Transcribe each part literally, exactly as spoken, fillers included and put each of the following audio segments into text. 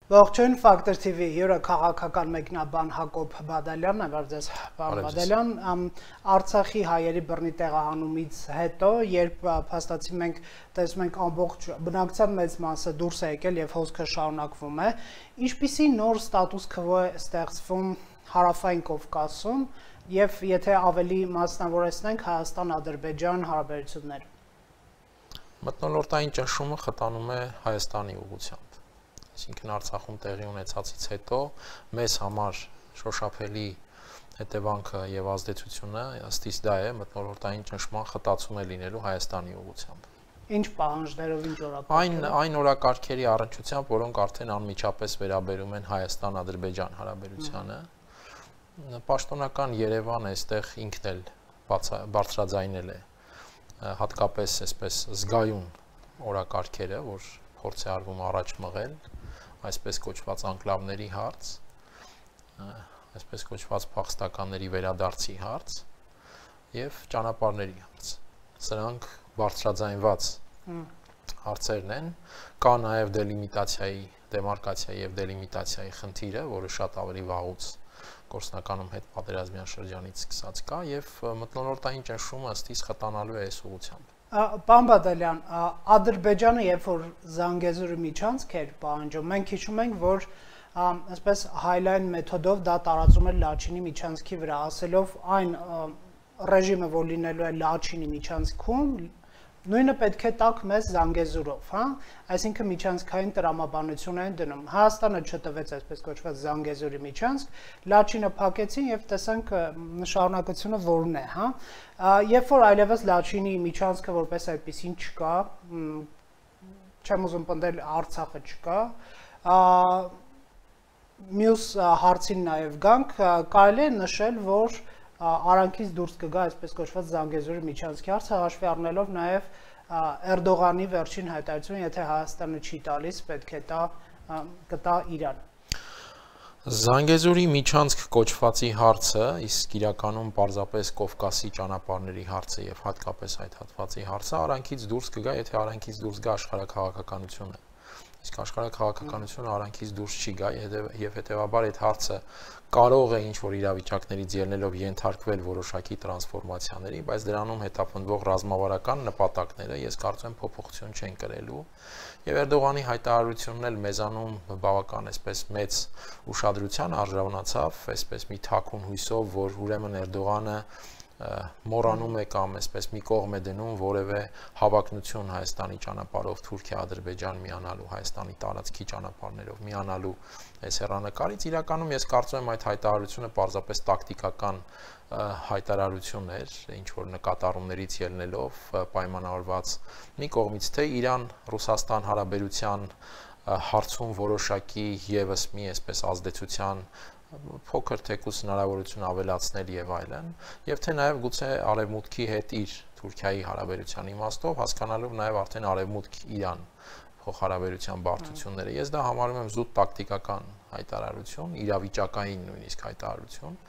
Ողջույն, Ֆակտոր Թի Վի հյուրը քաղաքական մեկնաբան Հակոբ Բադալյանն է, վարձես պարոն Բադալյան, Արցախի հայերի բռնի տեղահանումից հետո, երբ փաստացի մենք տեսնում ենք ամբողջ բնակչության մեծ մասը դուրս է եկել եւ հոսքը շարունակվում է, ինչպիսի նոր ստատուս քվո է ստեղծվում Հարավային Կովկասում եւ եթե ավելի մասնավորեցնենք Հայաստան-Ադրբեջան հարաբերությունները։ Մթնոլորտային ճնշումը խտանում է Հայաստանի ուղղությամբ։ Այսինքն Արցախում տեղի ունեցածից հետո մեզ համար շոշափելի հետևանքը եւ ազդեցությունը ըստիս դա է մթնոլորտային ճնշման խտացում է լինելու Հայաստանի ուղղությամբ։ Ինչ պահանջներով, ինչ օրակարգերով։ Այն այն օրակարգերի առնչությամբ, որոնք արդեն անմիջապես վերաբերում են Հայաստան-Ադրբեջան հարաբերությանը։ Պաշտոնական Երևանը այստեղ ինքն էլ բարձրաձայնել է հատկապես այսպես զգայուն օրակարգերը, որ փորձ է արվում առաջ մղել այսպես կոչված անկլավների հարց, այսպես կոչված փախստականների վերադարձի հարց եւ ճանապարհների հարց։ Սրանք բարձրաձայնված հարցերն են, կա նաեւ դելիմիտացիայի, դեմարկացիայի եւ դելիմիտացիայի խնդիրը, որը շատ ավելի վաղուց գործնականում հետ պատերազմյան շրջանից սկսած կա եւ մթնոլորտային ճնշումը ըստիս խտանալու է այս ուղղությամբ։ Պարոն Բադալյան, Ադրբեջանը երբ որ Զանգեզուրի միջանցք էր պահանջում, մենք հիշում ենք, որ այսպես հայլայն մեթոդով դա տարածում էր Լաչինի միջանցքի վրա, ասելով այն ռեժիմը, որ լինելու է Լաչինի միջանցքում, նույնը պետք է տակ մեզ Զանգեզուրով, հա, այսինքն միջանցքային տրամաբանություն են դնում։ Հայաստանը չտվեց այսպես կոչված Զանգեզուրի միջանցք, Լաչինը փակեցին եւ տեսանք շարունակությունը որն է, հա։ Երբ որ այլևս Լաչինի միջանցքը որպես այդպեսին չկա, չեմ ուզում պնդել Արցախը չկա, մյուս հարցին նաեւ գանք, կարելի է նշել, որ Արանքից դուրս կգա այսպես կոչված Զանգեզուրի միջանցքի հարցը, հաշվի առնելով նաև Էրդողանի վերջին հայտարարությունը, եթե Հայաստանը չի տալիս, պետք է տա կտա Իրան։ Զանգեզուրի միջանցք կոչվածի հարցը, իսկ իրականում պարզապես Կովկասի ճանապարհների հարցը եւ հատկապես այդ հատվածի հարցը Արանքից դուրս կգա, եթե Արանքից դուրս գա աշխարհաքաղաքականությունը։ Իսկ աշխարհաքաղաքականությունը Արանքից դուրս չի գա եւ հետեւաբար այդ հարցը կարող է ինչ-որ իրավիճակներից ելնելով ենթարկվել որոշակի տրանսֆորմացիաների, բայց դրանում հետապնդվող ռազմավարական նպատակները ես կարծում եմ փոփոխություն չեն կրելու եւ Էրդողանի հայտարարությունն էլ մեզանում բավական այսպես մեծ ուշադրության արժանացավ, այսպես մի թաքուն հույսով, որ ուրեմն Էրդողանը մոռանում է կամ այսպես մի կողմ է դնում որևէ հավակնություն Հայաստանի ճանապարհով Թուրքիա-Ադրբեջան միանալու, Հայաստանի տարածքի ճանապարհներով միանալու այս հեռանկարից իրականում ես կարծում եմ այդ հայտարարությունը պարզապես տակտիկական հայտարարություն էր, ինչ որ նկատառումներից ելնելով պայմանավորված մի կողմից թե Իրան-Ռուսաստան հարաբերության հարցում որոշակի եւս մի այսպես ազդեցության փոքր թեկուս հնարավորություն ավելացնել եւ այլն, եւ թե նաեւ գուցե արևմուտքի հետ իր Թուրքիայի հարաբերության իմաստով հասկանալով նաեւ արդեն արևմուտք-Իրան փոխհարաբերության բարդությունները։ Ես դա համարում եմ զուտ տակտիկական հայտարարություն, իրավիճակային նույնիսկ հայտարարություն։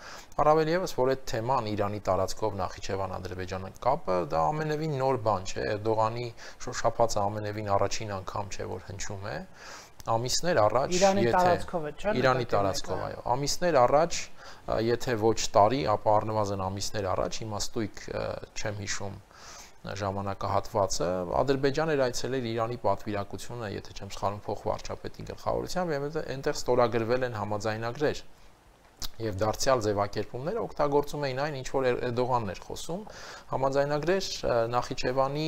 Առավել եւս, որ այդ թեման Իրանի տարածքով Նախիջևան-Ադրբեջան կապը դա ամենևին նոր բան չէ, Էրդողանի շոշափածը ամենևին առաջին անգամ չէ, որ հնչում է։ Ամիսներ առաջ, Իրանի տարածքով է, չէ՞։ Իրանի տարածքով, այո։ Ամիսներ առաջ, եթե ոչ տարի, ապա առնվազն ամիսներ առաջ, իմաստույկ չեմ հիշում ժամանակահատվածը, Ադրբեջան էր այցելել Իրանի պատվիրակությունը, եթե չեմ սխալվում, փոխվարչապետի գլխավորությամբ, եւ այնտեղ ստորագրվել են համաձայնագրեր եւ դարձյալ ձևակերպումները օգտագործում էին այն, ինչ որ Էրդողանն էր խոսում, համաձայնագրեր Նախիջևանի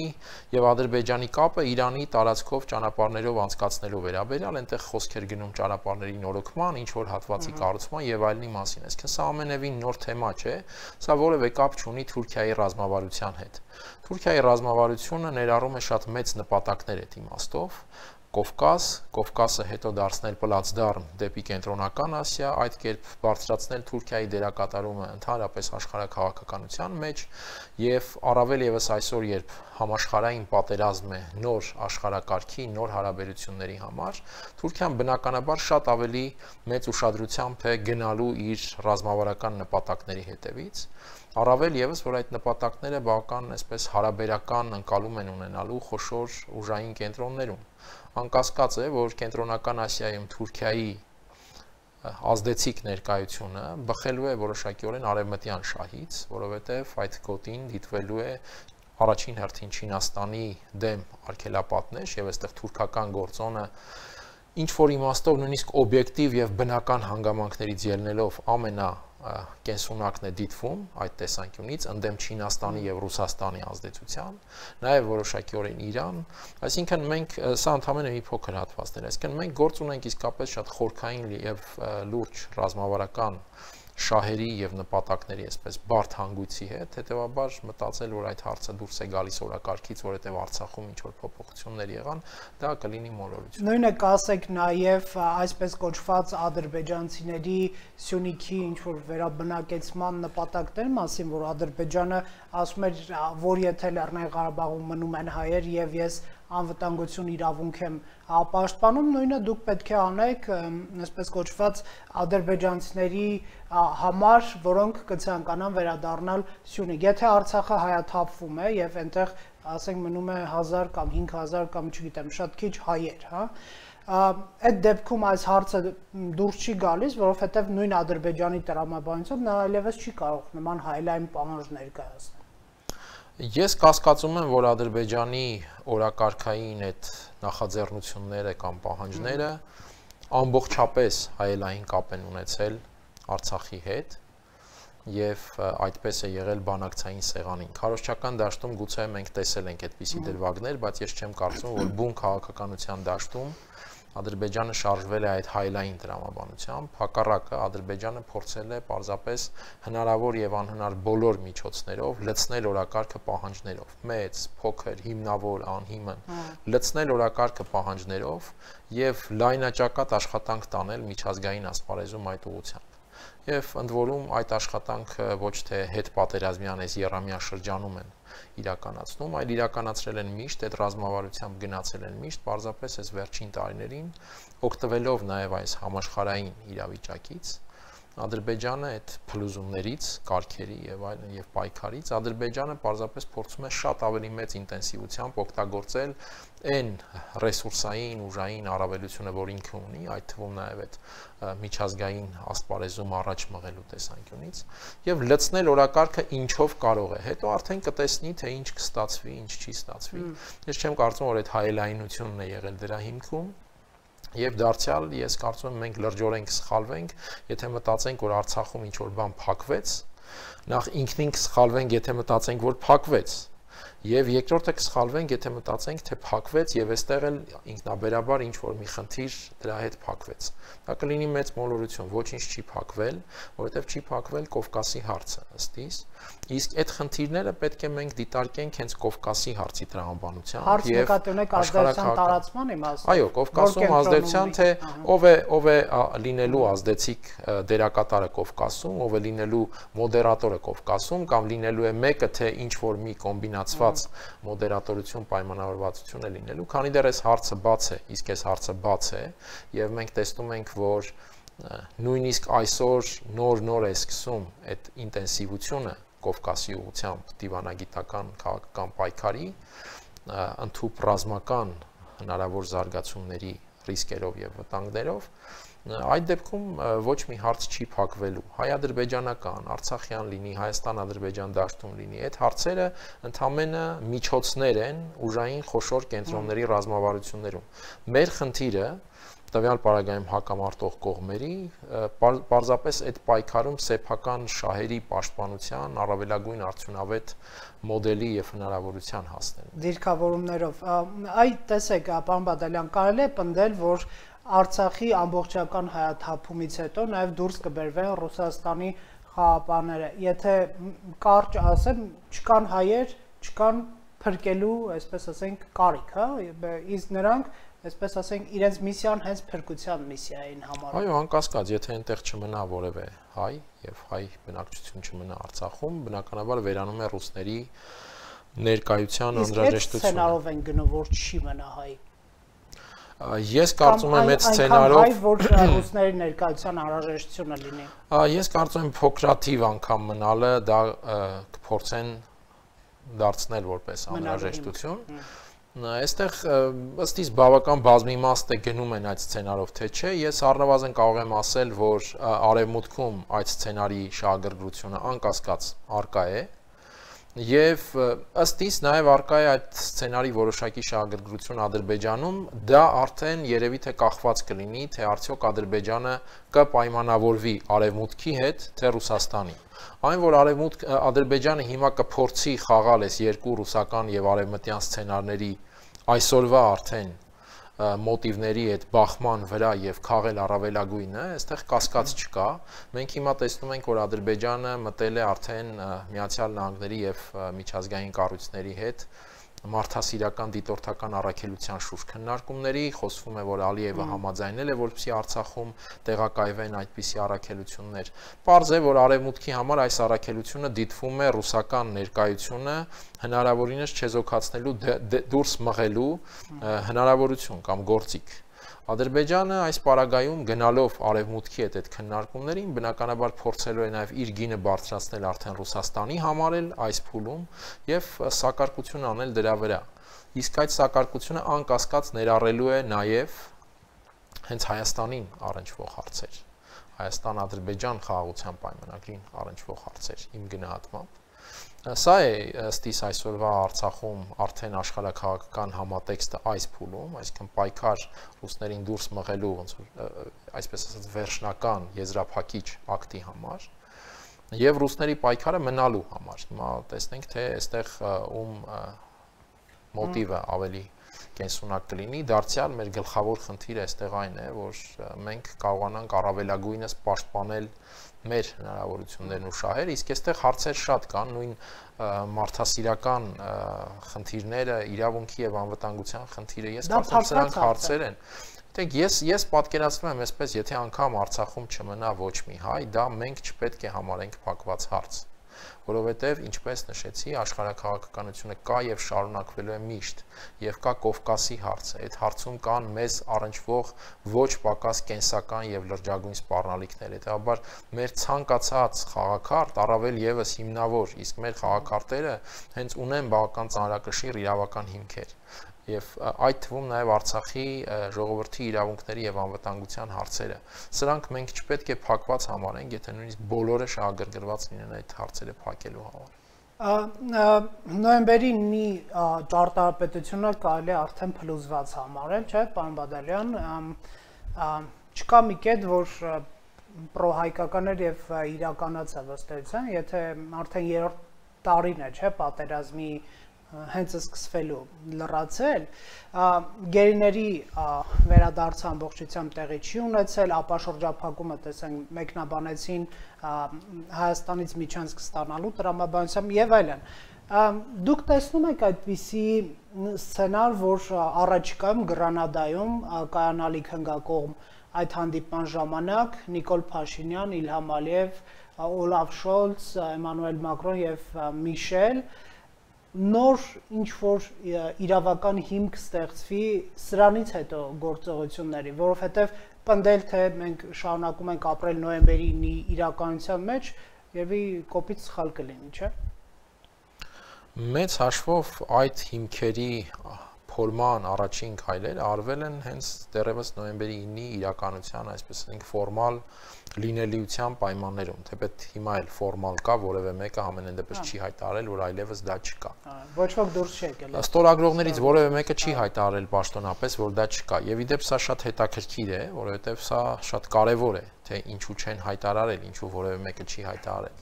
եւ Ադրբեջանի կապը Իրանի տարածքով ճանապարհներով անցկացնելու վերաբերյալ, այնտեղ խոսք էր գնում ճանապարհների նորոգման, ինչ որ հատվածի կառուցման եւ այլնի մասին։ Այսինքն սա ամենևին նոր թեմա չէ, սա որևէ կապ չունի Թուրքիայի ռազմավարության հետ։ Թուրքիայի ռազմավարությունը ներառում է շատ մեծ նպատակներ այդ իմաստով, Կովկաս, Կովկասը հետո դարձնել պլացդարմ դեպի կենտրոնական Ասիա, այդ կերպ բարձրացնել Թուրքիայի դերակատարումը ընդհանրապես աշխարհաքաղաքականության մեջ եւ առավել եւս այսօր, երբ համաշխարհային պատերազմ է նոր աշխարհակարգի, նոր հարաբերությունների համար, Թուրքիան բնականաբար շատ ավելի մեծ ուշադրությամբ է գնալու իր ռազմավարական նպատակների հետևից, առավել եւս, որ այդ նպատակները բավական այսպես հարաբերական ընկալում են ունենալու խոշոր ուժային կենտրոններում։ Անկասկած է, որ կենտրոնական Ասիայում Թուրքիայի ազդեցիկ ներկայությունը բխելու է որոշակիորեն արևմտյան շահից, որովհետև այդ գոտին դիտվելու է առաջին հերթին Չինաստանի դեմ արգելապատնեշ եւ այստեղ թուրքական գործոնը ինչ որ իմաստով նույնիսկ օբյեկտիվ եւ բնական հանգամանքներից ելնելով ամենա կենսունակն է դիտվում այդ տեսանկյունից ընդդեմ Չինաստանի եւ Ռուսաստանի ազդեցության, նաեւ որոշակիորեն Իրան, այսինքն մենք սա ընդհանրապես մի փոքր հատվածներ, այսինքն մենք գործ ունենք իսկապես շատ խորքային եւ լուրջ ռազմավարական շահերի եւ նպատակների այսպես բարդ հանգույցի հետ, հետեւաբար մտածել, որ այդ հարցը դուրս է գալիս օրակարգից, որովհետեւ Արցախում ինչ որ փոփոխություններ եղան, դա կլինի մոլորություն։ Նույնը կասեք նաեւ այսպես կոչված ադրբեջանցիների Սյունիքի ինչ որ վերաբնակեցման նպատակների մասին, որ Ադրբեջանը ասում էր, որ եթե Լեռնային Ղարաբաղում մնում են հայեր եւ ես անվտանգություն իրավունք եմ պաշտպանում, նույնը դուք պետք է անեք այսպես կոչված ադրբեջանցիների համար, որոնք կցանկանան վերադառնալ Սյունիք։ Եթե Արցախը հայաթափվում է եւ այնտեղ, ասենք, մնում է հազար կամ հինգ հազար կամ չգիտեմ, շատ քիչ հայեր, հա, այդ դեպքում այս հարցը դուրս չի գալիս, որովհետեւ նույն Ադրբեջանի տրամաբանությամբ նա այլևս չի կարող նման հայլային պահանջ ներկայացնել։ Ես կասկածում եմ, որ Ադրբեջանի օրակարգային այդ նախաձեռնությունները կամ պահանջները ամբողջապես հայելային կապ են ունեցել Արցախի հետ եւ այդպես է եղել բանակցային սեղանին։ Քարոզչական դաշտում գուցե մենք տեսել ենք այդպիսի դրվագներ, բայց ես չեմ կարծում, որ բուն քաղաքականության դաշտում Ադրբեջանը շարժվել է այդ հայլային տրամաբանությամբ, հակառակը Ադրբեջանը փորձել է պարզապես հնարավոր եւ անհնար բոլոր միջոցներով լցնել օրակարգը պահանջներով, մեծ, փոքր, հիմնավոր, անհիմն, լցնել օրակարգը պահանջներով եւ լայնաճակատ աշխատանք տանել միջազգային ասպարեզում այդ ուղղությամբ։ Եվ ընդ որում այդ աշխատանքը ոչ թե հետ պատերազմյան այս եռամյա շրջանում են իրականացնում, այլ իրականացրել են միշտ, այդ ռազմավարությամբ գնացել են միշտ, պարզապես այս վերջին տարիներին օգտվելով նաև այս համաշխարհային իրավիճակից, Ադրբեջանը այդ փլուզումներից, կարգերի եւ այլն եւ պայքարից Ադրբեջանը պարզապես փորձում է շատ ավելի մեծ ինտենսիվությամբ օգտագործել այն ռեսուրսային, ուժային առավելությունը, որ ինքը ունի, այդ թվում նաև այդ միջազգային ասպարեզում առաջ մղելու տեսանկյունից եւ լցնել օրակարգը ինչով կարող է։ Հետո արդեն կտեսնի, թե ինչ կստացվի, ինչ չի ստացվի։ Ես չեմ կարծում, որ այդ հայելայնությունն է եղել դրա հիմքում։ Եվ դարձյալ ես կարծում եմ մենք լրջորեն կսխալվենք, եթե մտածենք, որ Արցախում ինչ որ բան փակվեց, նախ ինքնին կսխալվենք, եթե մտածենք, որ փակվեց, եւ երկրորդը կսխալվենք, եթե մտածենք, թե փակվեց եւ այստեղ էլ ինքնաբերաբար ինչ որ մի խնդիր դրա հետ փակվեց։ Դա կլինի մեծ մոլորություն, ոչինչ չի փակվել, որովհետեւ չի փակվել Կովկասի հարցը, ըստ իս, իսկ այդ խնդիրները պետք է մենք դիտարկենք հենց Կովկասի հարցի տրամաբանությամբ եւ ազդեցության տարածման իմաստով։ Այո, Կովկասում ազդեցության, թե ով է ով է լինելու ազդեցիկ դերակատարը Կովկասում, ով է լինելու մոդերատորը Կովկասում կամ լինելու է մեկը, թե ինչ որ մի կոմբինացված մոդերատորություն, պայմանավորվածություն է լինելու, քանի դեռ այս հարցը բաց է, իսկ այս հարցը բաց է եւ մենք տեսնում ենք, որ նույնիսկ այսօր նոր-նոր է սկսում այդ ինտենսիվությունը Կովկասի ուղղությամբ դիվանագիտական քաղաքական պայքարի ընդհանուր ռազմական հնարավոր զարգացումների ռիսկերով եւ վտանգներով, այդ դեպքում ոչ մի հարց չի փակվելու։ Հայ-ադրբեջանական, արցախյան լինի, Հայաստան-Ադրբեջան դաշտում լինի, այդ հարցերը ընդամենը միջոցներ են ուժային խոշոր կենտրոնների ռազմավարություններում։ Մեր խնդիրը տվյալ պարագայում հակամարտող կողմերի պարզապես այդ պայքարում սեփական շահերի պաշտպանության առավելագույն արդյունավետ մոդելի եւ հնարավորության հասնելն։ Դիրքավորումներով, այ տեսեք, պարոն Բադալյան, կարելի է պնդել, որ Արցախի ամբողջական հայաթափումից հետո նաեւ դուրս կբերվեն Ռուսաստանի խաղապանները։ Եթե կարճ ասեմ, չկան հայեր, չկան փրկելու, այսպես ասենք, կարիք, հա, իսկ նրանք այսպես ասենք, իրենց միսիան հենց փրկության միսիային համարում։ Այո, անկասկած, եթե այնտեղ չմնա որևէ հայ եւ հայ բնակչություն չմնա Արցախում, բնականաբար վերանում է ռուսների ներկայության անհրաժեշտությունը։ Իսկ այդ սցենարով են գնում, որ չի մնա հայ։ Ես կարծում եմ այդ սցենարով, հայ, որ ռուսների ներկայության անհրաժեշտությունը լինի։ Ես կարծում եմ փոքրաթիվ անգամ մնալը դա կփորձեն դարձնել որպես անհրաժեշտություն։ Այստեղ ըստ իս բավական բազմիմաստ է գնում են այդ սցենարով, թե չէ, ես առնվազն կարող եմ ասել, որ արևմուտքում այդ սցենարի շահագրգռությունը անկասկած առկա է։ Եվ ըստ իս նաև առկա է այդ սցենարի որոշակի շահագրգռություն Ադրբեջանում, դա արդեն երևի թե կախված կլինի, թե արդյոք Ադրբեջանը կպայմանավորվի արևմուտքի հետ, թե Ռուսաստանի։ Այն որ արևմուտք Ադրբեջանը հիմա կփորձի խաղալ այս երկու ռուսական եւ արևմտյան սցենարների այսօրվա արդեն մոտիվների այդ բախման վրա եւ քաղել առավելագույնը, այստեղ կասկած չկա։ Մենք հիմա տեսնում ենք, որ Ադրբեջանը մտել է արդեն Միացյալ Նահանգների եւ միջազգային կառույցների հետ մարդասիրական դիտորդական առաքելության շուրջ քննարկումների, խոսվում է, որ Ալիևը համաձայնել է, որպեսզի Արցախում տեղակայվեն այդպիսի առաքելություններ։ Պարզ է, որ արևմուտքի համար այս առաքելությունը դիտվում է ռուսական ներկայությունը հնարավորինս չեզոքացնելու դուրս մղելու հնարավորություն կամ գործիք։ Ադրբեջանը այս պարագայում գնալով արևմուտքի հետ այդ քննարկումներին բնականաբար փորձելու է նաև իր գինը բարձրացնել արդեն Ռուսաստանի համար էլ այս փուլում եւ սակարկություն անել դրա վրա։ Իսկ այդ սակարկությունը անկասկած ներառելու է նաև հենց Հայաստանին առնչվող հարցեր։ Հայաստան-Ադրբեջան խաղաղության պայմանագրին առնչվող հարցեր իմ գնահատմամբ։ Սա է ըստ իս այսօրվա Արցախում արդեն աշխարհաքաղաքական համատեքստը այս փուլում, այսինքն պայքար ռուսներին դուրս մղելու ոնց որ այսպես ասած վերջնական եզրափակիչ ակտի համար եւ ռուսների պայքարը մնալու համար։ Հիմա տեսնենք, թե այստեղ ում մոտիվը ավելի կենսունակ կլինի, դարձյալ մեր գլխավոր խնդիրը այստեղ այն է, որ մենք կարողանանք առավելագույնս պաշտպանել մեր հնարավորություններն ու շահերը, իսկ այստեղ հարցեր շատ կան, նույն մարդասիրական խնդիրները, իրավունքի եւ անվտանգության խնդիրը, ես կարծում եմ սրանք հարցեր են։ Դեք ես ես պատկերացնում եմ այսպես, եթե անգամ Արցախում չմնա ոչ մի հայ, դա մենք չպետք է համարենք փակված հարց, որովհետև ինչպես նշեցի, աշխարհաքաղաքականությունը կա եւ շարունակվելու է միշտ, եւ կա Կովկասի հարցը։ Այդ հարցում կան մեզ առնչվող ոչ պակաս կենսական եւ լրջագույն սպառնալիքներ։ Հետաբար մեր ցանկացած խաղաքարտ առավել եւս հիմնավոր, իսկ մեր խաղաքարտերը հենց ունեն բավական ծանրակշիռ իրավական հիմքեր։ Եվ այդ թվում նաև Արցախի ժողովրդի իրավունքների եւ անվտանգության հարցերը։ Սրանք մենք չպետք է փակված համարենք, եթե նույնիսկ բոլորը շահագրգռված լինեն այդ հարցերը փակելու համար։ Նոյեմբերի նի ճարտարապետությունը կարելի է արդեն փլուզված համարել, չէ՞, պարոն Բադալյան, չկա մի կետ, որ պրոհայկականներ եւ իրականացավ ըստ էության, եթե արդեն երրորդ տարին է, չէ՞, պատերազմի հենց սկսվելու լրացել, գերիների վերադարձը ամբողջությամբ տեղի չի ունեցել, ապա շրջափակումը տեսենք մեկնաբանեցին Հայաստանից Միջանցք ստանալու տրամաբանությամբ եւ այլն։ Դուք տեսնում եք այդպիսի սցենար, որ առաջիկայում Գրանադայում կայանալի քննարկողմ այդ հանդիպման ժամանակ Նիկոլ Փաշինյան, Իլհամ Ալիև, Օլաֆ Շոլց, Էմանուել Մակրոն եւ Միշել նոր ինչ-որ իրավական հիմք ստեղծվի սրանից հետո գործողությունների, որովհետև պնդել, թե մենք շարունակում ենք ապրել նոյեմբերի նի իրականության մեջ, երևի կոպիտ սխալ կլինի, չէ՞։ Մեծ հաշվով այդ հիմքերի փորման առաջին քայլերը արվել են հենց դեռևս նոյեմբերի ինի իրականության, այսպես ասենք, ֆորմալ լինելիության պայմաններում, թեպետ հիմա էլ ֆորմալ կա, որևէ մեկը ամենայն դեպս չի հայտարարել, որ այլևս դա չկա։ Ոչ ոք դուրս չի եկել։ Ստորագրողներից որևէ մեկը չի հայտարարել պաշտոնապես, որ դա չկա, եւ ի դեպ սա շատ հետաքրքիր է, որովհետեւ սա շատ կարեւոր է, թե ինչու չեն հայտարարել, ինչու որևէ մեկը չի հայտարարել։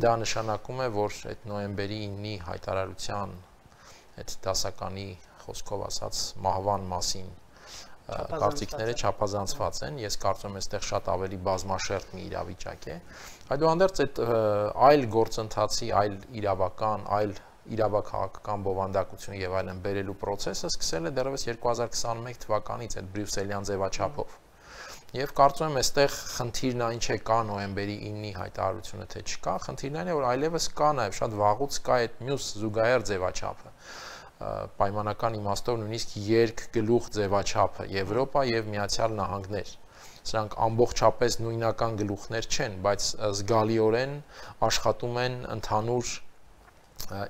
Դա նշանակում է, որ այդ նոյեմբերի ինի հայտարարության այդ դասականի խոսքով ասած մահվան մասին կարծիքները չափազանցված են, ես կարծում եմ այստեղ շատ ավելի բազմաշերտ մի իրավիճակ է։ Այդուհանդերձ այդ այլ գործընթացի, այլ իրավական, այլ իրավաքաղաքական բովանդակություն եւ այլն բերելու process-ը սկսել է դեռևս երկու հազար քսաներկու թվականից այդ բրյուսելյան ձևաչափով։ Եվ կարծում եմ այստեղ խնդիրն այն չէ կա նոյեմբերի իննի հայտարարությունը թե չկա, խնդիրն այն է որ այլևս կա նաեւ շատ վաղուց կա այդ մյուս զուգահեռ ձևաչափը պայմանական իմաստով նույնիսկ երկգլուխ ձևաչափը Եվրոպա եւ Միացյալ Նահանգներ։ Սրանք ամբողջապես նույնական գլուխներ չեն, բայց զգալիորեն աշխատում են ընդհանուր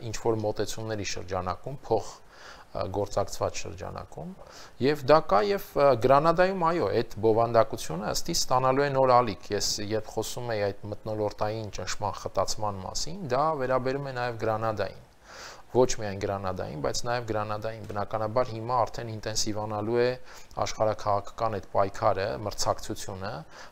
ինչ որ մոտեցումների շրջանակում, փոխ գործակցված շրջանակում, եւ դա կա եւ Գրանադայում այո, այդ բովանդակությունը ըստի ստանալու է նոր ալիք։ Ես երբ խոսում եի այդ մթնոլորտային ճնշման խտացման մասին, դա վերաբերում է նաեւ Գրանադային։ Ոչ միայն Գրանադային, բայց նաև Գրանադային բնականաբար հիմա արդեն ինտենսիվանալու է աշխարհաքաղաքական այդ պայքարը, մրցակցությունը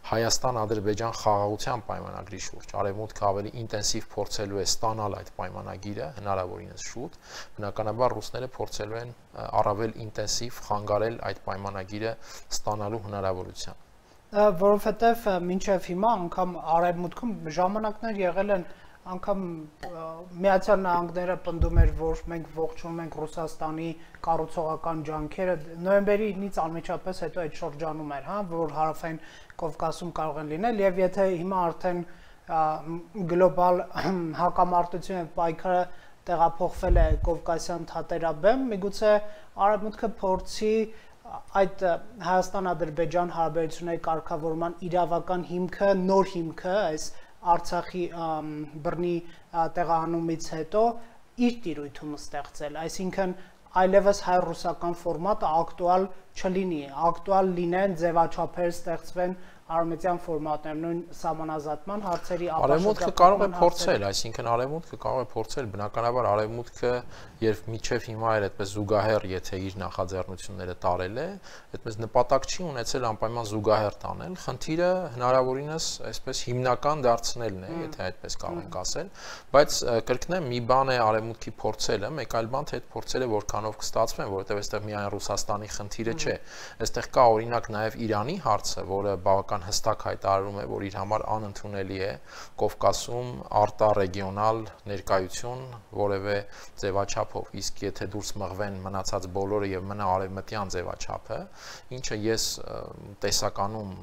Հայաստան-Ադրբեջան խաղաղության պայմանագրի շուրջ։ Արևմուտքը ավելի ինտենսիվ փորձելու է ստանալ այդ պայմանագիրը, հնարավորինս շուտ, բնականաբար ռուսները փորձելու են առավել ինտենսիվ խանգարել այդ պայմանագիրը ստանալու հնարավորության։ Որովհետև մինչև հիմա անգամ Արևմուտքում ժամանակներ եղել են անգամ Միացյալ Նահանգները պնդում էր, որ մենք ողջունում ենք Ռուսաստանի կառուցողական ջանքերը, նոյեմբերի ինից անմիջապես հետո այդ շրջանում էր, հա, որ հարավային Կովկասում կարող են լինել, եւ եթե հիմա արդեն գլոբալ հակամարտությունը եւ պայքարը տեղափոխվել է Կովկասյան թատերաբեմ, միգուցե Արևմուտքը փորձի այդ Հայաստան-Ադրբեջան հարաբերությունների կարգավորման իրավական հիմքը, նոր հիմքը, այս Արցախի բռնի տեղահանումից հետո իր տիրույթում ստեղծել, այսինքն այլևս հայ-ռուսական ֆորմատը ակտուալ չլինի, ակտուալ լինեն ձևաչափեր ստեղծվեն արմենիան ֆորմատներ, նույն սահմանազատման հարցերի Արևմուտքը կարող է փորձել, այսինքն Արևմուտքը կարող է փորձել, բնականաբար Արևմուտքը երբ միջև հիմա էր այդպես զուգահեռ, եթե իր նախաձեռնությունները տարել է, այդպես նպատակ չի ունեցել անպայման զուգահեռ տանել, խնդիրը հնարավորինս այսպես հիմնական դարձնելն է, եթե այդպես կարող ենք ասել, բայց կրկնեմ, մի բան է Արևմուտքի փորձելը, մեկ այլ բան թե այդ փորձերը որքանով կստացվեն, որովհետև այստեղ միայն Ռուսաստանի խնդիրը չէ, այստեղ կա օրինակ նաև Իրանի հարցը, որը բավական հստակ հայտարարում է, որ իր համար անընդունելի է Կովկասում արտառեգիոնալ ներկայություն որևէ ձևաչափով, իսկ եթե դուրս մղվեն մնացած բոլորը եւ մնա արևմտյան ձևաչափը, ինչը ես տեսականում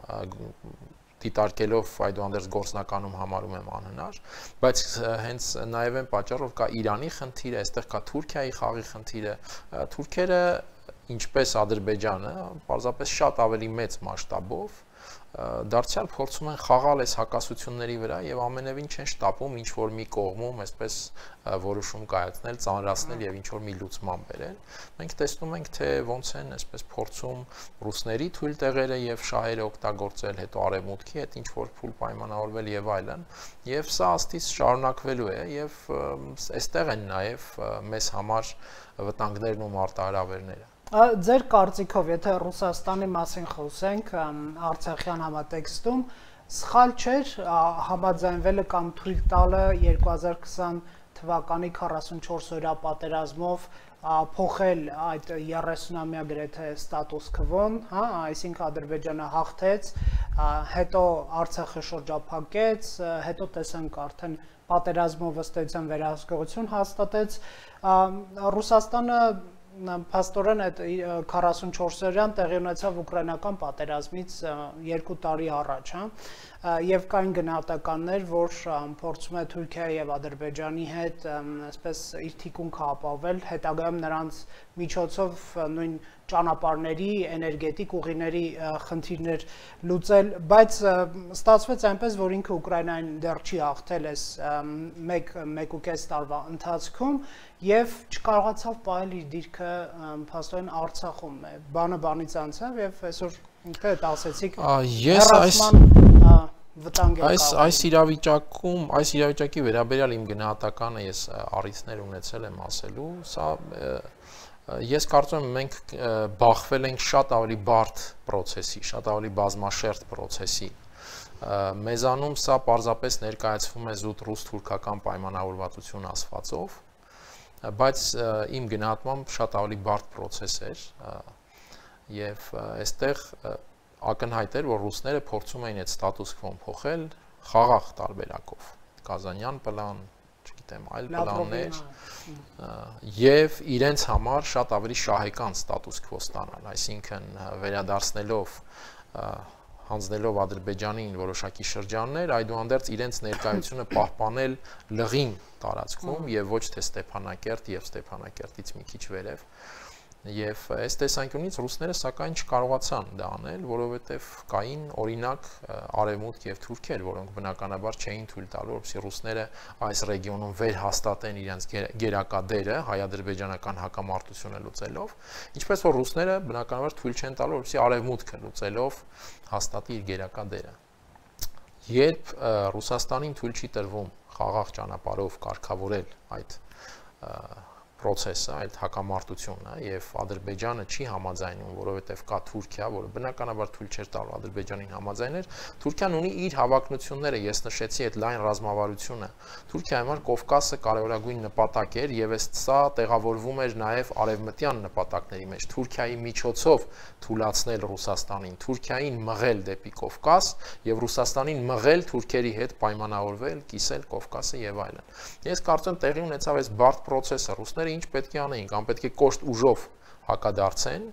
դիտարկելով այդուհանդերձ գործնականում համարում եմ անհնար, բայց հենց նաև այն պատճառով կա Իրանի խնդիրը, այստեղ կա Թուրքիայի խաղի խնդիրը, թուրքերը ինչպես Ադրբեջանը, պարզապես շատ ավելի մեծ մասշտաբով դարձյալ փորձում են խաղալ այս հակասությունների վրա եւ ամենևին չեն շտապում ինչ որ մի կողմում այսպես որոշում կայացնել, ծանրացնել եւ ինչ որ մի լուծման բերել։ Մենք տեսնում ենք, թե ոնց են այսպես փորձում ռուսների թույլ տեղերը եւ շահերը օգտագործել, հետո արևմուտքի հետ ինչ որ փուլ պայմանավորվել եւ այլն։ Եվ սա աստից շարունակվելու է եւ այստեղ են նաեւ մեզ համար վտանգներն ու մարտահրավերները։ Ձեր կարծիքով, եթե Ռուսաստանի մասին խոսենք Արցախյան համատեքստում, սխալ չէր համաձայնվելը կամ թույլ տալը երկու հազար քսան թվականի քառասունչորս օրյա պատերազմով փոխել այդ երեսունամյա գրեթե ստատուս քվոն, հա, այսինքն Ադրբեջանը հաղթեց, հետո Արցախը շրջափակեց, հետո տեսանք արդեն պատերազմով ըստ էության վերահսկողություն հաստատեց, Ռուսաստանը փաստորեն այդ քառասունչորս օրյան տեղի ունեցավ ուկրաինական պատերազմից երկու տարի առաջ, հա, եւ կային գնահատականներ, որ փորձում է Թուրքիայի եւ Ադրբեջանի հետ այսպես իր թիկունքը ապահովել, հետագայում նրանց միջոցով նույն ճանապարհների, էներգետիկ ուղիների խնդիրներ լուծել, բայց ստացվեց այնպես, որ ինքը Ուկրաինային դեռ չի հաղթել այս մեկ մեկ ու կես տարվա ընթացքում եւ չկարողացավ պահել իր դիրքը փաստորեն Արցախում է։ Բանը բանից անցավ եւ այսօր ինքը դա ասեցիք։ Ես այս վտանգ է։ Այս այս իրավիճակում, այս իրավիճակի վերաբերյալ իմ գնահատականը ես առիթներ ունեցել եմ ասելու, սա Ես կարծում եմ մենք բախվել ենք շատ ավելի բարդ process-ի, շատ ավելի բազմաշերտ process-ի։ Մեզանում սա պարզապես ներկայացվում է զուտ ռուս-թուրքական պայմանավորվածություն ասվածով, բայց իմ գնահատմամբ շատ ավելի բարդ process էր եւ այստեղ ակնհայտ էր, որ ռուսները փորձում էին այդ ստատուս քվոն փոխել խաղաղ տարբերակով։ Կազանյան պլան, գիտեմ, այլ պլաններ եւ իրենց համար շատ ավելի շահեկան ստատուս քվո ստանալ, այսինքն վերադարձնելով հանձնելով Ադրբեջանին որոշակի շրջաններ, այդուհանդերձ իրենց ներկայությունը պահպանել լղիմ տարածքում եւ ոչ թե Ստեփանակերտ եւ Ստեփանակերտից մի քիչ վերև։ Եվ այս տեսանկյունից ռուսները սակայն չկարողացան դա անել, որովհետև կային օրինակ Արևմուտք եւ Թուրքիա, որոնք բնականաբար չէին թույլ տալու, որպեսզի ռուսները այս ռեգիոնում վերհաստատեն իրենց գերակա դերը հայ-ադրբեջանական հակամարտությունը լուծելով, ինչպես որ ռուսները բնականաբար թույլ չեն տալու, որպեսզի Արևմուտքը լուծելով հաստատի իր գերակա դերը։ Երբ Ռուսաստանին թույլ չի տրվում խաղաղ ճանապարհով կարգավորել այդ process-ը, այդ հակամարտությունը եւ Ադրբեջանը չի համաձայնում, որովհետեւ կա Թուրքիա, որը բնականաբար թույլ չէր տալու Ադրբեջանին համաձայնել, Թուրքիան ունի իր հավակնությունները, ես նշեցի այդ լայն ռազմավարությունը։ Թուրքիայի համար Կովկասը կարևորագույն նպատակ էր եւ այս սա տեղավորվում էր նաեւ արևմտյան նպատակների մեջ։ Թուրքիայի միջոցով թույլաtsնել Ռուսաստանին, Թուրքիային մղել դեպի Կովկաս եւ Ռուսաստանին մղել թուրքերի հետ պայմանավորվել, կիսել Կովկասը եւ այլն։ Ես կարծում տեղի ունեցավ այս բարդ process-ը, ռուսները ինչ պետք է անեին, կամ պետք է կոշտ ուժով հակադարձեն,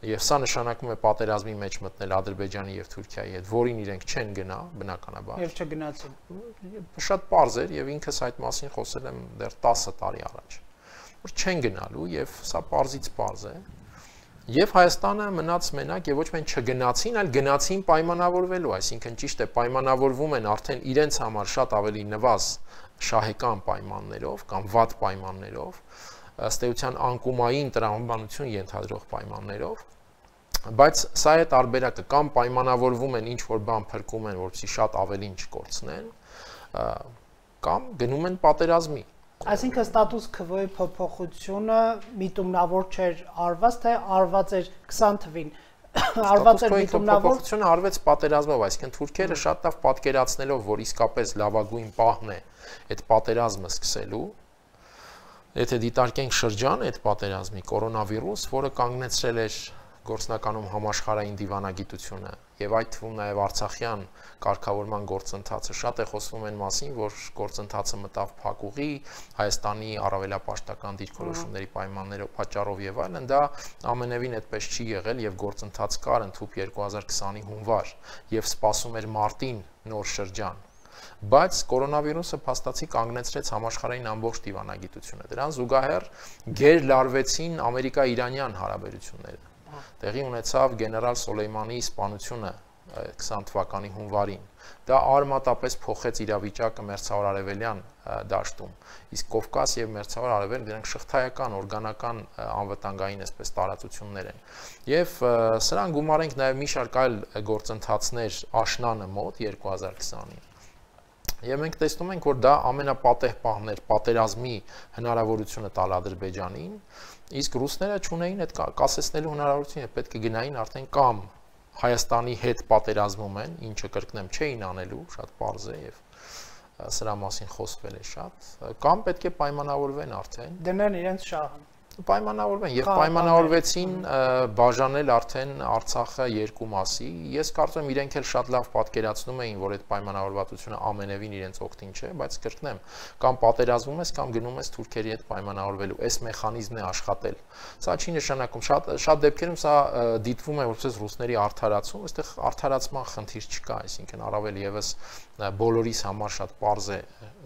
եւ սա նշանակում է պատերազմի մեջ մտնել Ադրբեջանի եւ Թուրքիայի հետ, որին իրենք չեն գնա, բնականաբար։ Եվ չգնացին։ Շատ པարզ էր եւ ինքս այդ մասին խոսել եմ դեռ տասը տարի առաջ, որ չեն գնալու եւ սա པարզից པարզ է։ Եվ Հայաստանը մնաց մենակ եւ ոչ միայն չգնացին, այլ գնացին պայմանավորվելու, այսինքն ճիշտ է, պայմանավորվում են արդեն իրենց համար շատ ավելի նվազ շահեկան պայմաններով կամ վատ պայմաններով, ըստ էության անկումային տրամաբանություն ենթադրող պայմաններով, բայց սա է տարբերակը, կամ պայմանավորվում են ինչ որ բան փրկում են, որպեսզի շատ ավելին չկորցնեն, կամ գնում են պատերազմի։ Այսինքն ստատուս քվոյի փոփոխությունը միտումնավոր չէր արված, թե արված էր քսան թվին։ Արված էր միտումնավոր փոփոխությունը արվեց պատերազմով, այսինքն թուրքերը շատ լավ պատկերացնելով, որ իսկապես լավագույն պահն է այդ պատերազմը սկսելու, եթե դիտարկենք շրջանը այդ պատերազմի կորոնավիրուս, որը կանգնեցրել էր գործնականում համաշխարհային դիվանագիտությունը եւ այդ թվում նաեւ Արցախյան կարգավորման գործընթացը, շատ է խոսվում այն մասին, որ գործընթացը մտավ փակուղի, Հայաստանի առավելապաշտական դիրքորոշումների պայմաններով պատճառով եւ այլն, դա ամենևին այդպես չի եղել եւ գործընթաց կար ընդհանուր երկու հազար քսանի հունվար եւ սպասում էր մարտին նոր շրջան։ Բայց կորոնավիրուսը փաստացի կանգնեցրեց համաշխարհային ամբողջ դիվանագիտությունը։ Դրան զուգահեռ գերլարվեցին Ամերիկա-Իրանյան հարաբերությունները։ Տեղի ունեցավ գեներալ Սոլեյմանի սպանությունը քսան թվականի հունվարին։ Դա արմատապես փոխեց իրավիճակը Մերձավոր Արևելյան դաշտում։ Իսկ Կովկաս եւ Մերձավոր Արևելք դրանք շղթայական, օրգանական անվտանգային այսպես տարածություններ են։ Եվ սրան գումարենք նաեւ մի շարք այլ գործընթացներ աշնանը մոտ երկու հազար քսանին։ Եվ մենք տեսնում ենք, որ դա ամենապատեհ պահն էր պատերազմի հնարավորությունը տալ Ադրբեջանին, իսկ ռուսները չունեին այդ կասեցնելու հնարավորությունը, պետք է գնային արդեն կամ Հայաստանի հետ պատերազմում են, ինչը կրկնեմ չէին անելու, շատ պարզ է եւ սրա մասին խոսվել է շատ, կամ պետք է պայմանավորվեն արդեն դնեն իրենց շահը։ Պայմանավորվեն եւ պայմանավորվեցին բաժանել արդեն Արցախը երկու մասի։ Ես կարծում եմ իրենք էլ շատ լավ պատկերացնում էին, որ այդ պայմանավորվածությունը ամենևին իրենց օգտին չէ, բայց կրկնեմ, կամ պատերազմում ես, կամ գնում ես թուրքերի հետ պայմանավորվելու։ Այս մեխանիզմն է աշխատել։ Սա չի նշանակում, շատ շատ դեպքերում սա դիտվում է որպես ռուսների արդարացում, այստեղ արդարացման խնդիր չկա, այսինքն առավել եւս բոլորիս համար շատ པարզ է,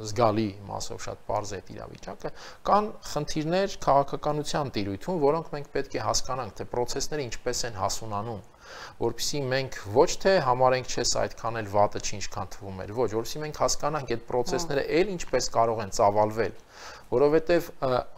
զգալի մասով շատ པարզ է այդ իրավիճակը, կան խնդիրներ քաղաքականության տիրույթում, որոնք մենք պետք է հասկանանք, թե process-ները ինչպես են հասունանում, որպեսզի մենք ոչ թե համարենք չէ սա այդքան էլ վատը չի ինչքան թվում էր, ոչ, որպեսզի մենք հասկանանք այդ process-ները էլ ինչպես կարող են ծավալվել, որովհետև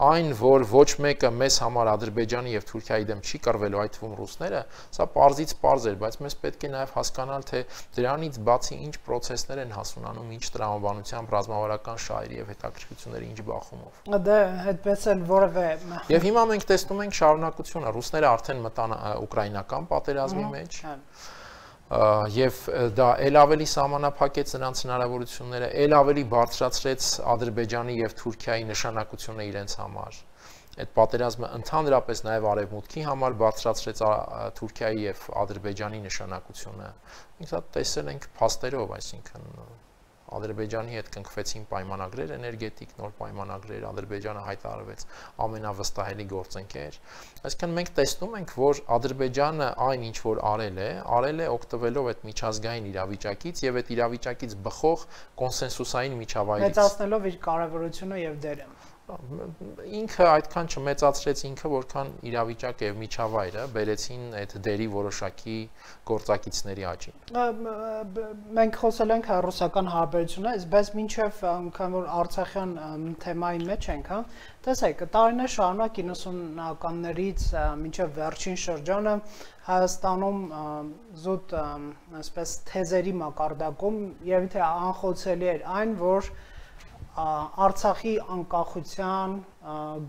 այն, որ ոչ մեկը մեզ համար Ադրբեջանի եւ Թուրքիայի դեմ չի կռվելու, այդ թվում ռուսները, սա պարզից պարզ էր, բայց մեզ պետք է նաեւ հասկանալ, թե դրանից բացի ինչ process-ներ են հասունանում, ինչ տրամաբանությամբ, ռազմավարական շահերի եւ հետաքրքրությունների ինչ բախումով։ Դա այդպես էլ որևէ։ Եվ հիմա մենք տեսնում ենք շարունակությունը, ռուսները արդեն մտան ուկրաինական պատերազմի մեջ։ Եվ դա ել ավելի սահմանափակեց նրանց հնարավորությունները, ել ավելի բարձրացրեց Ադրբեջանի եւ Թուրքիայի նշանակությունը իրենց համար։ Այդ պատերազմը ընդհանրապես նաեւ արևմուտքի համար բարձրացրեց Թուրքիայի եւ Ադրբեջանի նշանակությունը։ Մենք դա տեսել ենք փաստերով, այսինքն Ադրբեջանի հետ կնքվեցին պայմանագրեր էներգետիկ, նոր պայմանագրեր, Ադրբեջանը հայտարարվեց ամենավստահելի գործընկեր։ Այսինքն մենք տեսնում ենք, որ Ադրբեջանը այն ինչ որ արել է, արել է օգտվելով այդ միջազգային իրավիճակից եւ այդ իրավիճակից բխող կոնսենսուսային միջավայրից։ Մեծացնելով իր կարևորությունը եւ դերը։ Ինքը այդքան չմեծացրեց ինքը, որքան իրավիճակը եւ միջավայրը բերեցին այդ դերի որոշակի գործակիցների աճին։ Մենք խոսել ենք ռուսական հարաբերություններից, բայց մինչև անգամ որ Արցախյան թեմայի մեջ ենք, հա, տեսեք, տարիներ շարունակ իննսունականներից մինչև վերջին շրջանը Հայաստանում զուտ այսպես թեզերի մակարդակում եւ թե անխոցելի էր այն, որ Արցախի անկախության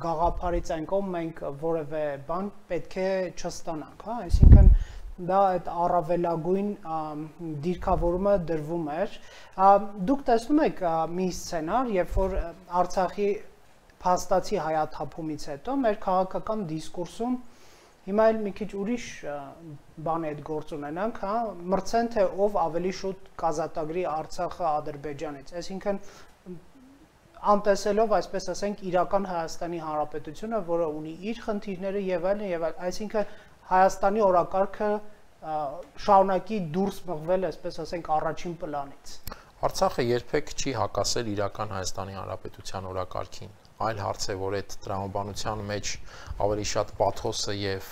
գաղափարից այն կողմ մենք որևէ բան պետք է չստանանք, հա, այսինքն դա այդ առավելագույն դիրքավորումը դրվում էր։ Դուք տեսնում եք մի սցենար, երբ որ Արցախի փաստացի հայաթափումից հետո մեր քաղաքական դիսկուրսում հիմա էլ մի քիչ ուրիշ բան է այդ գործ ունենանք, հա, մրցեն թե ով ավելի շուտ կազատագրի Արցախը Ադրբեջանից, այսինքն անտեսելով, այսպես ասենք, իրական Հայաստանի Հանրապետությունը, որը ունի իր խնդիրները եւ այլն եւ այլն, այսինքն Հայաստանի օրակարգը շարունակի դուրս մղվել, այսպես ասենք, առաջին պլանից։ Արցախը երբեք չի հակասել իրական Հայաստանի Հանրապետության օրակարգին։ Այլ հարց է, որ այդ տրամաբանության մեջ ավելի շատ պաթոսը եւ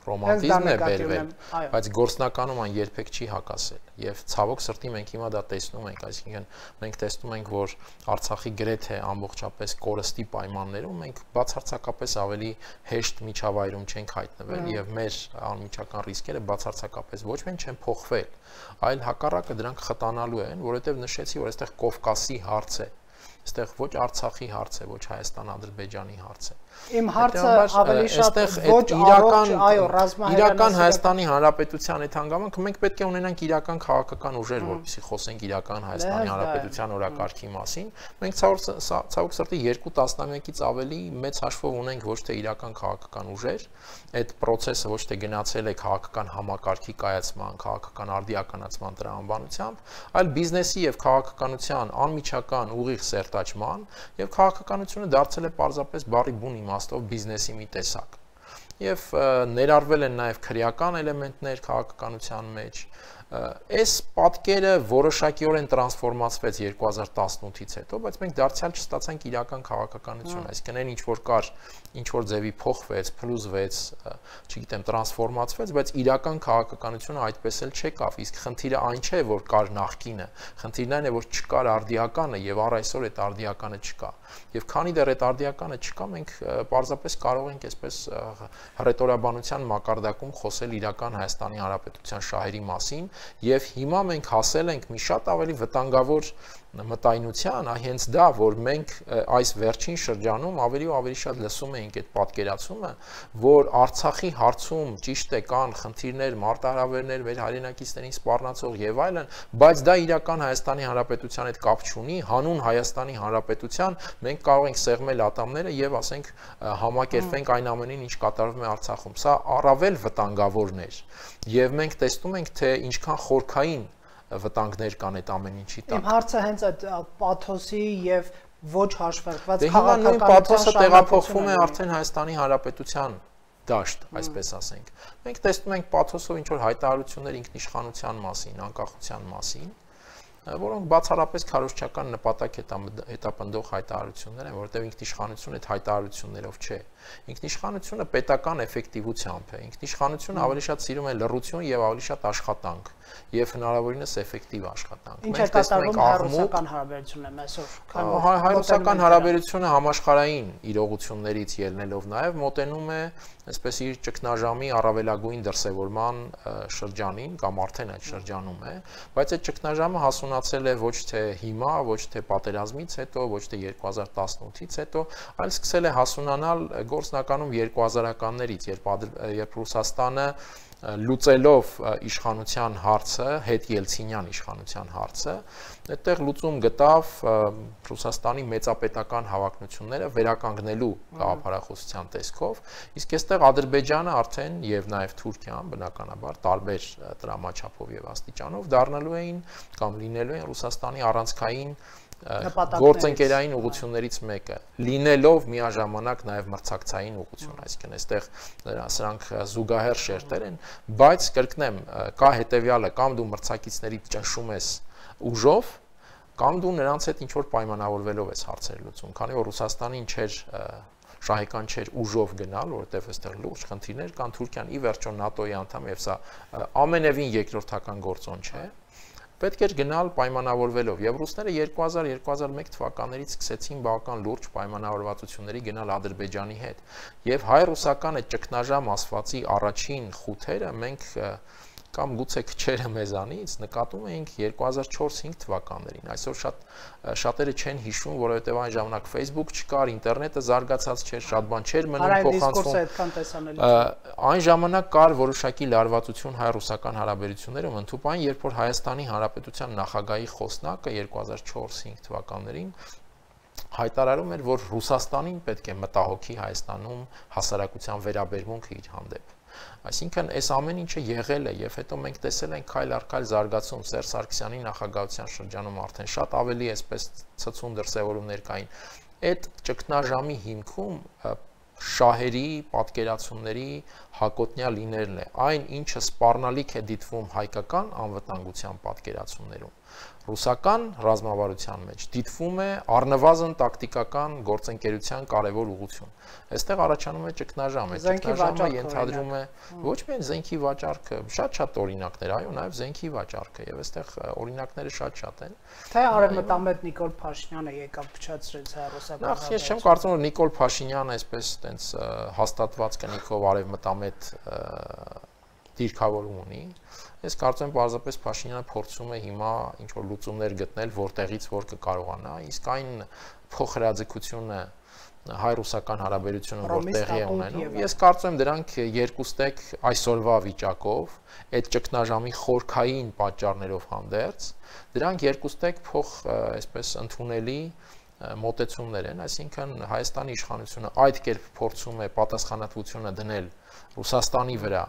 ռոմանտիզմն է բերվել, բայց գործնականում այն երբեք չի հակասել եւ ցավոք սրտի մենք հիմա դա տեսնում ենք, այսինքն մենք տեսնում ենք, որ Արցախի գրեթե ամբողջապես կորստի պայմաններում մենք բացարձակապես ավելի հեշտ միջավայրում չենք հայտնվել եւ մեր անմիջական ռիսկերը բացարձակապես ոչ միայն չեն փոխվել, այլ հակառակը դրանք խտանալու են, որովհետեւ նշեցի, որ այստեղ Կովկասի հարց է, այստեղ ոչ Արցախի հարց է, ոչ Հայաստան-Ադրբեջանի հարց է։ Իմ հարցը ավելի շատ ոչ իրական, այո, ռազմահեղանացիական իրական Հայաստանի Հանրապետության այդ հանգամանքը մենք պետք է ունենանք իրական քաղաքական ուժեր, որպեսզի խոսենք իրական Հայաստանի Հանրապետության օրակարգի մասին։ Մենք ցավոք սրտի երկու տասնամյակից ավելի մեծ հաշվով ունենք ոչ թե իրական քաղաքական ուժեր, այդ process-ը ոչ թե գնացել է քաղաքական համակարգի կայացման, քաղաքական արդիականացման տրամաբանությամբ, այլ բիզնեսի եւ քաղաքականության անմիջական ուղիղ սերտաճման եւ քաղաքականությունը դարձել է պարզապես բառի բուն իմաստով բիզնեսի մի տեսակ եւ ներառվել են նաեւ քրեական էլեմենտներ քաղաքականության մեջ այս պատկերը որոշակիորեն տրանսֆորմացվեց երկու հազար տասնութից հետո, բայց մենք դարձյալ չստացանք իրական քաղաքականություն, այսինքն այն ինչ որ կար, ինչ որ ձևի փոխվեց, փլուզվեց, չգիտեմ, տրանսֆորմացվեց, բայց իրական քաղաքականությունը այդպես էլ չեկավ, իսկ խնդիրը այն չէ, որ կար նախկինը, խնդիրն այն է, որ չկար արդիականը եւ առ այսօր այդ արդիականը չկա։ Եվ քանի դեռ այդ արդիականը չկա, մենք պարզապես կարող ենք այսպես ռետորաբանության մակարդակում խոսել իրական Հայաստանի Հանրապետության շահերի մասին, եւ հիմա մենք հասել ենք մի շատ ավելի վտանգավոր մտայնության, հենց դա, որ մենք այս վերջին շրջանում ավելի ու ավելի շատ լսում էինք այդ պատկերացումը, որ Արցախի հարցում ճիշտ է կան խնդիրներ, մարտահրավերներ, մեր հայրենակիցներին սպառնացող եւ այլն, բայց դա իրական Հայաստանի Հանրապետության հետ կապ չունի, հանուն Հայաստանի Հանրապետության մենք կարող ենք սեղմել ատամները եւ ասենք համակերպենք այն ամենին, ինչ կատարվում է Արցախում։ Սա առավել վտանգավորն էր եւ մենք տեսնում ենք, թե ինչքան խորքային վտանգներ կան այդ ամեն ինչի տակ։ Իմ հարցը հենց այդ պաթոսի եւ ոչ հաշվարկված քաղաքականության պաթոսը տեղափոխվում է արդեն Հայաստանի Հանրապետության դաշտ, այսպես ասենք։ Մենք տեսնում ենք պաթոսով ինչ որ հայտարարություններ ինքնիշխանության մասին, անկախության մասին, որոնք բացառապես քարոզչական նպատակ հետապնդող հայտարարություններ են, որովհետև ինքնիշխանությունը այդ հայտարարություններով չէ։ Ինքնիշխանությունը պետական էֆեկտիվությամբ է։ Ինքնիշխանությունը ավելի շատ սիրում է լռություն եւ ավելի շատ աշխատանք եւ հնարավորինս էֆեկտիվ աշխատանք։ Ինչ է կատարվում հայ-ռուսական հարաբերություններում այսօր։ Հայ-ռուսական հարաբերությունը համաշխարհային իրողություններից ելնելով նաեւ մոտենում է այսպես իր ճգնաժամի առավելագույն դրսևորման շրջանին կամ արդեն այդ շրջանում է, բայց այդ ճգնաժամը հասունացել է ոչ թե հիմա, ոչ թե պատերազմից հետո, ոչ թե երկու հազար տասնութից հետո, այլ սկսել է հասունանալ գործնականում երկու հազարականներից, երբ երբ Ռուսաստանը լուծելով իշխանության հարցը, հետ ելցինյան իշխանության հարցը, այդտեղ լուծում գտավ Ռուսաստանի մեծապետական հավակնությունները վերականգնելու գաղափարախոսության տեսքով, իսկ այստեղ Ադրբեջանը արդեն եւ նաեւ Թուրքիան բնականաբար տարբեր տրամաչափով եւ աստիճանով դառնալու էին կամ լինելու են Ռուսաստանի առանցքային գործընկերային ուղղություններից մեկը, լինելով միաժամանակ նաև մրցակցային ուղղություն, այսինքն այստեղ սրանք զուգահեռ շերտեր են, բայց կրկնեմ, կա հետևյալը, կամ դու մրցակիցներից ճնշում ես ուժով, կամ դու նրանց հետ ինչ որ պայմանավորվելով ես հարցեր լուծում, քանի որ Ռուսաստանին չէր շահեկան չէր ուժով գնալ, որովհետև այստեղ լուրջ խնդիրներ կան, Թուրքիան ի վերջո ՆԱՏՕ-ի անդամ եւ սա ամենևին երկրորդական գործոն չէ։ Պետք էր գնալ պայմանավորվելով եւ ռուսները երկու հազար երկու հազար մեկ թվականներից սկսեցին բավական լուրջ պայմանավորվածությունների գնալ Ադրբեջանի հետ եւ հայ-ռուսական այդ ճգնաժամ ասվածի առաջին խութերը մենք կամ գուցե քչերը մեզանից նկատում էինք երկու հազար չորս հինգ թվականներին այսօր շատ շատերը չեն հիշում որովհետեւ այն ժամանակ Facebook չկար, ինտերնետը զարգացած չէր, շատ բան չէր մնում փոխանցվում։ Այն ժամանակ կար որոշակի լարվածություն հայ-ռուսական հարաբերություններում, ընդհանրապես երբ որ Հայաստանի Հանրապետության նախագահի խոսնակը երկու հազար չորս հինգ թվականներին հայտարարում էր, որ Ռուսաստանին պետք է մտահոգի Հայաստանում հասարակության վերաբերմունքը իր հանդեպ։ Այսինքն այս ամեն ինչը եղել է եւ հետո մենք տեսել ենք քայլ առ քայլ զարգացում Սերժ Սարգսյանի նախագահության շրջանում արդեն շատ ավելի այսպես ցցուն դրսևորումներ կային։ Այդ ճգնաժամի հիմքում շահերի, պատկերացումների հակոտնյա լինելն է, այն ինչը սպառնալիք է դիտվում հայկական անվտանգության պատկերացումներում, ռուսական ռազմավարության մեջ դիտվում է առնվազն տակտիկական գործընկերության կարևոր ուղղություն։ Այստեղ առաջանում է ճգնաժամ, այդ ճգնաժամը ենթադրում է ոչ միայն զենքի վաճառքը, շատ-շատ օրինակներ, այո, նաև զենքի վաճառքը, եւ այստեղ օրինակները շատ-շատ են։ Թե արևմտամետ Նիկոլ Փաշինյանը եկավ փչացրեց հայ-ռուսական։ Նախ ես չեմ կարծում, որ Նիկոլ Փաշինյանը այսպես տենց հաստատված կնիքով արևմտամետ դիրքավորում ունի։ Ես կարծում եմ պարզապես Փաշինյանը փորձում է հիմա ինչ որ լուծումներ գտնել, որտեղից որ կկարողանա, իսկ այն փոխհրաձգությունը հայ-ռուսական հարաբերությունում որ տեղի է ունենում, ես կարծում եմ դրանք երկուստեք այսօրվա վիճակով, այդ ճգնաժամի խորքային պատճառներով հանդերձ, դրանք երկուստեք փոխ այսպես ընդունելի մոտեցումներ են, այսինքն Հայաստանի իշխանությունը այդ կերպ փորձում է պատասխանատվությունը դնել Ռուսաստանի վրա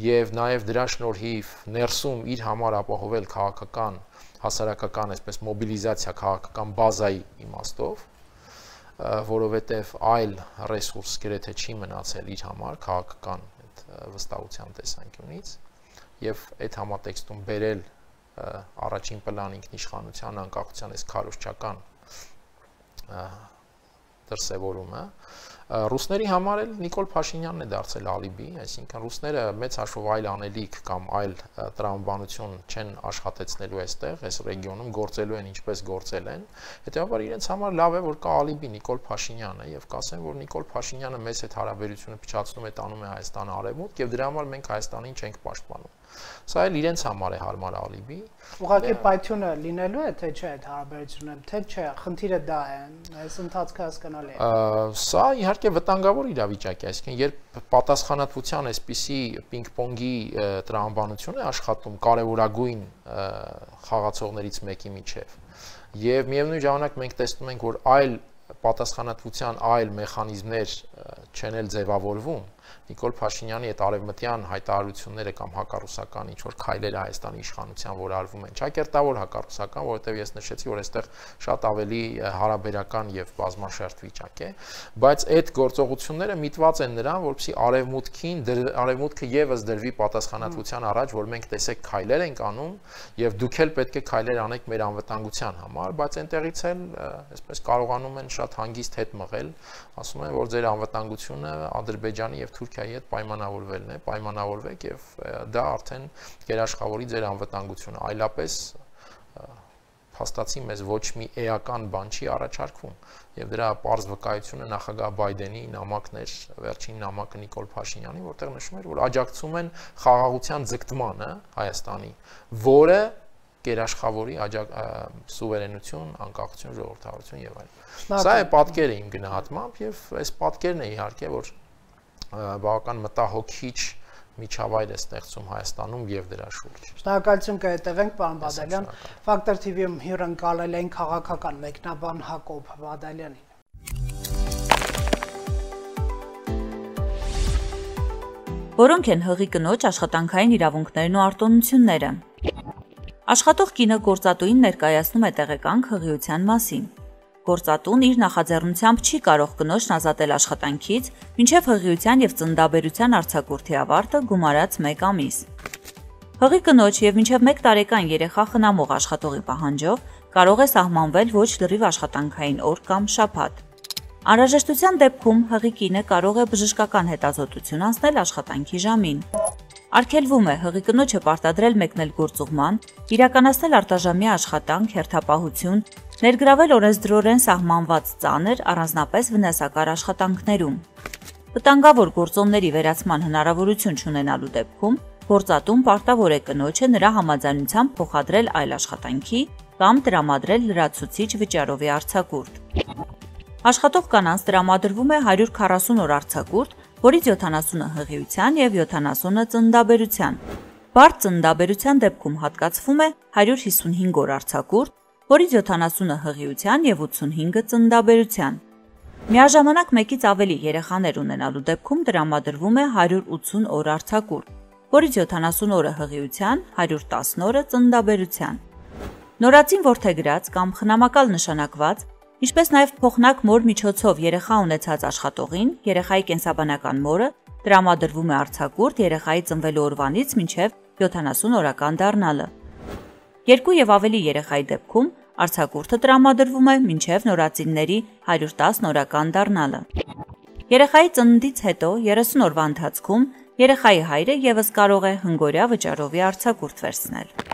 եւ նաեւ դրա շնորհիվ ներսում իր համար ապահովել քաղաքական, հասարակական այսպես մոբիլիզացիա քաղաքական բազայի իմաստով, որովհետեւ այլ ռեսուրս գրեթե չի մնացել իր համար քաղաքական այդ վստահության տեսանկյունից եւ այդ համատեքստում բերել առաջին պլան ինքնիշխանության անկախության այս քարոզչական դրսևորումը ռուսների համար էլ Նիկոլ Փաշինյանն է դարձել ալիբի, այսինքն ռուսները մեծ հաշվով այլ անելիք կամ այլ տրամաբանություն չեն աշխատեցնելու այստեղ, այս ռեգիոնում գործելու են ինչպես գործել են, հետեւաբար իրենց համար լավ է որ կա ալիբի Նիկոլ Փաշինյանը եւ կասեն որ Նիկոլ Փաշինյանը մեծ հետ հարաբերությունը փչացնում է տանում է Հայաստանը արևմուտք եւ դրա համար մենք Հայաստանին չենք պաշտպանում։ Սա էլ իրենց համար է հարմար ալիբի։ Ուղղակի պայթյունը լինելու է թե չէ այդ հարաբերությունը, թե չէ, խնդիրը դա է, այս ընթացքը հասկանալի է։ Սա իհարկե վտանգավոր իրավիճակ է, այսինքն երբ պատասխանատվության այսպիսի պինգ-պոնգի տրամաբանություն է աշխատում կարևորագույն խաղացողներից մեկի միջև, եւ միևնույն ժամանակ մենք տեսնում ենք, որ այլ պատասխանատվության այլ մեխանիզմներ չեն էլ ձևավորվում, Նիկոլ Փաշինյանի այդ արևմտյան հայտարարությունները կամ հակառուսական ինչ որ քայլերը Հայաստանի իշխանության որ արվում են, ճակերտավոր հակառուսական, որովհետև ես նշեցի, որ այստեղ շատ ավելի հարաբերական եւ բազմաշերտ վիճակ է, բայց այդ գործողությունները միտված են նրան, որպեսզի արևմուտքին արևմուտքը եւս դրվի պատասխանատվության առաջ, որ մենք տեսեք քայլեր ենք անում եւ դուք էլ պետք է քայլեր անեք մեր անվտանգության համար, բայց այնտեղից էլ այսպես կարողանում են շատ հանգիստ հետ մղել, ասում են, որ ձեր անվտանգությունը Ադրբեջանի եւ Թուրքիայի հետ պայմանավորվելն է, պայմանավորվեք եւ դա արդեն գերաշխավորի ձեր անվտանգությունը, այլապես փաստացի մեզ ոչ մի էական բան չի առաջարկվում եւ դրա պարզ վկայությունը նախագահ Բայդենի նամակն էր, վերջին նամակը Նիկոլ Փաշինյանի, որտեղ նշում էր, որ աջակցում են խաղաղության ձգտմանը Հայաստանի, որը գերաշխավորի սուվերենություն, անկախություն, ժողովրդավարություն եւ այլն։ Սա է պատկերը իմ գնահատմամբ եւ այս պատկերն է իհարկե, որ բավական մտահոգիչ միջավայր է ստեղծում Հայաստանում եւ դրա շուրջ։ Շնորհակալություն կհետևենք, պարոն Բադալյան։ Ֆակտոր թի վի-ում հյուրընկալել են քաղաքական մեկնաբան Հակոբ Բադալյանին։ Որոնք են հղի կնոջ աշխատանքային իրավունքներն ու արտոնությունները։ Աշխատող կինը գործատուին ներկայացնում է տեղեկանք հղիության մասին։ Գործատուն իր նախաձեռնությամբ չի կարող կնոջն ազատել աշխատանքից, մինչև հղիության եւ ծննդաբերության արձակուրդի ավարտը գումարած մեկ ամիս։ Հղի կնոջ եւ մինչև մեկ տարեկան երեխա խնամող աշխատողի պահանջով կարող է սահմանվել ոչ լրիվ աշխատանքային օր կամ շաբաթ։ Անհրաժեշտության դեպքում հղի կինը կարող է բժշկական հետազոտություն անցնել աշխատանքի ժամին։ Արգելվում է հղի կնոջը պարտադրել մեկնել գործուղման, իրականացնել արտաժամյա աշխատանք, հերթապահություն, ներգրավել օրենսդրորեն սահմանված ծանր, առանձնապես վնասակար աշխատանքներում։ Վտանգավոր գործոնների վերացման հնարավորություն չունենալու դեպքում գործատուն պարտավոր է կնոջը նրա համաձայնությամբ փոխադրել այլ աշխատանքի կամ տրամադրել լրացուցիչ վճարովի արձակուրդ։ Աշխատող կանանց տրամադրվում է հարյուր քառասուն օր արձակուրդ, որից յոթանասունը հղիության եւ յոթանասունը ծննդաբերության։ Բարդ ծննդաբերության դեպքում հատկացվում է հարյուր հիսունհինգ օր արձակուրդ, որից յոթանասունը հղիության եւ ութսունհինգը ծննդաբերության։ Միաժամանակ մեկից ավելի երեխաներ ունենալու դեպքում տրամադրվում է հարյուր ութսուն օր արձակուրդ, որից յոթանասուն օրը հղիության, հարյուր տասն օրը ծննդաբերության։ Նորածին որդեգրած կամ խնամակալ նշանակված, ինչպես նաև փոխնակ մոր միջոցով երեխա ունեցած աշխատողին, երեխայի կենսաբանական մորը տրամադրվում է արձակուրդ երեխայի ծնվելու օրվանից մինչև յոթանասուն օրական դառնալը։ Երկու եւ ավելի երեխայի դեպքում արձակուրդը տրամադրվում է մինչև նորածինների հարյուր տասն օրական դառնալը։ Երեխայի ծննդից հետո երեսուն օրվա ընթացքում երեխայի հայրը եւս կարող է հնգօրյա վճարովի արձակուրդ վերցնել։